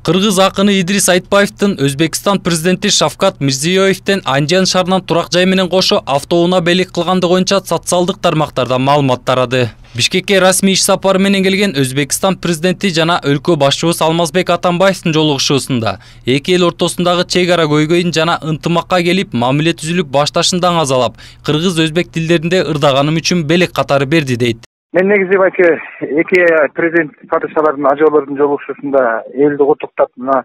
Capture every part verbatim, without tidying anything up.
Кыргыз акыны Идрис Айтбаевдин Өзбекстан президенти Шавкат Мирзиёевден Анжан шаарынан турак жай менен кошо автоунаа белек кылгандыгы боюнча социалдык тармактарда маалымат тарады. Бишкекке расмий иш сапары менен келген Өзбекстан президенти жана өлкө башчыбыз Алмазбек Атамбаевдин жолугушуусунда эки эл ортосундагы чек ара көйгөйүн жана ынтымакка келип, мамиле түзүлүп башташын даңазалап, кыргыз-өзбек тилдеринде ырдаганым үчүн белек катары берди дейт. Мен негизи байке эки президент падышалардын ажоолордун жолугушуусунда элди куттуктап, мына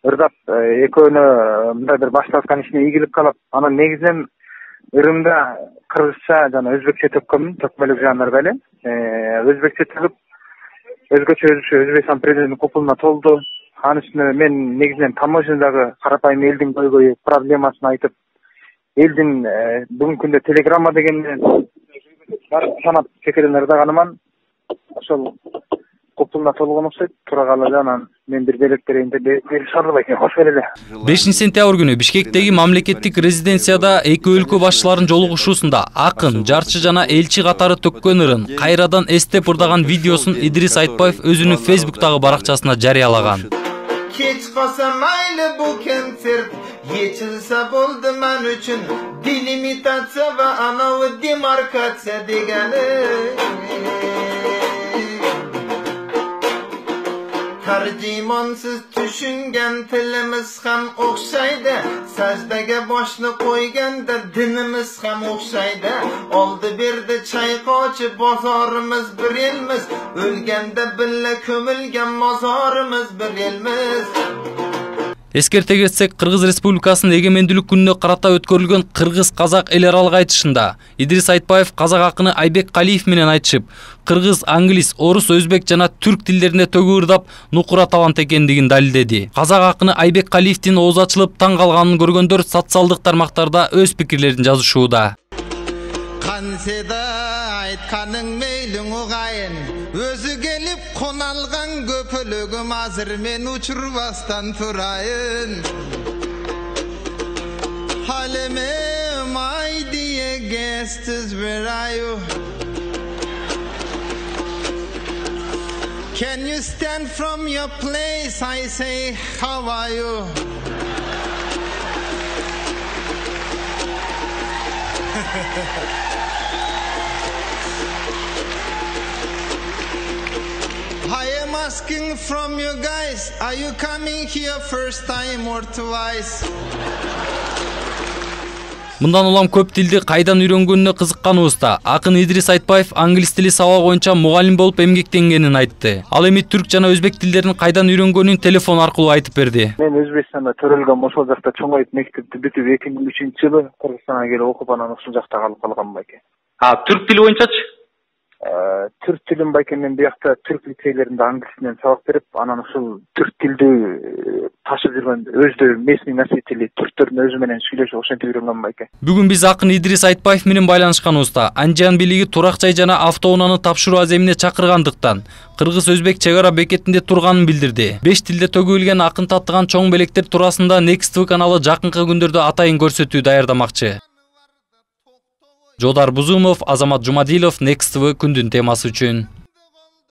ырдап, экөөнө мындай бир башталган ишине ийгилик каалап, анан негизинен ырымда кыргызча жана өзбекче төккөнмүн, төкмөлүк жанрда эле. Өзбекче төгүп, өзгөчө Өзбекстан президентинин купулуна толду. Анын үстүнө мен негизинен таможнядагы карапайым элдин көйгөйү, проблемасын айтып, элдин бүгүнкү күндө телеграмма деген санап чекерен ырдаганыман ошол купулуна толгон окшойт. Тура калды, анан мен бир белек берейин деп берип шаардым экен. Кош эле. бешинчи сентябрь күнү Бишкектеги мамлекеттик резиденцияда эки өлкө башчыларынын жолугушуусунда акын, жарчы жана элчи катары төккөн ырын кайрадан эстеп ырдаган видеосун Идрис Айтбаев өзүнүн Facebook'тагы баракчасына жарыялаган. Keç qolsa mayli bu kontsert yechilsa bo'ldi men uchun delimitatsiya va anavi demarkatsiya degani. Tarjimonsiz tushungan tilimiz ham o'xshaydi, sajdaga boshni qo'yganda dinimiz ham o'xshaydi. Oldi berdi chayqovchi bozorimiz bir elmiz, o'lganda billa ko'milgan mozorimiz bir elmiz. Эскерте кетсек, Кыргыз Республикасынын эгемендүүлүк күнүнө карата өткөрүлгөн кыргыз-казак эл аралык айтышында Идрис Айтбаев казак акыны Айбек Калиев менен айтышып, кыргыз, англис, орус, өзбек жана түрк тилдеринде төгүп ырдап, нукура талант экендигин далилдеди. Казак акыны Айбек Калиевдин оозу ачылып таң калганын көргөндөр социалдык тармактарда өз пикирлерин жазышууда. Qanseda aytqaning meylin o'g'ayin, o'zi kelib qo'nalgan go'pilugim azir men uchirvasdan turayin. Halime my dear guests, where are you? Can you stand from your place? I say, how are you? I am asking from you guys, are you coming here first time or twice? Мындан улам көп тилди кайдан үйрөнгөнүнө кызыкканыбызда акын Идрис Айтбаев англис тили сабак боюнча мугалим болуп эмгектенгенин айтты. Ал эми түрк жана өзбек тилдерин кайдан үйрөнгөнүн телефон аркылуу айтып берди. Мен Өзбекстанда төрөлгөм, ошол жакта чоңоюп мектепти бүтүп эки миң үчүнчү жылы Кыргызстанга келип окуп, анан ошол жакта калып калгам байке. А түрк тили боюнчачы? Түрк тилин байке мен биякта түрк лицейлеринде англис менен сабак берип, анан ошол түрк тилди ташып жүргөн өздө местный носители түрктөрдүн өзү менен сүйлөшүп ошентип үйрөнгөн байке. Бүгүн биз акын Идрис Айтбаев менен байланышканыбызда Анжан бийлиги турак жай жана автоунааны тапшыруу аземине чакыргандыктан кыргыз-өзбек чек ара бекетинде турганын билдирди. беш тилде төгүлгөн акын таттыган чоң белектер туурасында Next T V каналы жакынкы күндөрдө атайын көрсөтүү даярдамакчы. Жодар Бузумов, Азамат Жумадилов, Next T V күндүн темасы үчүн.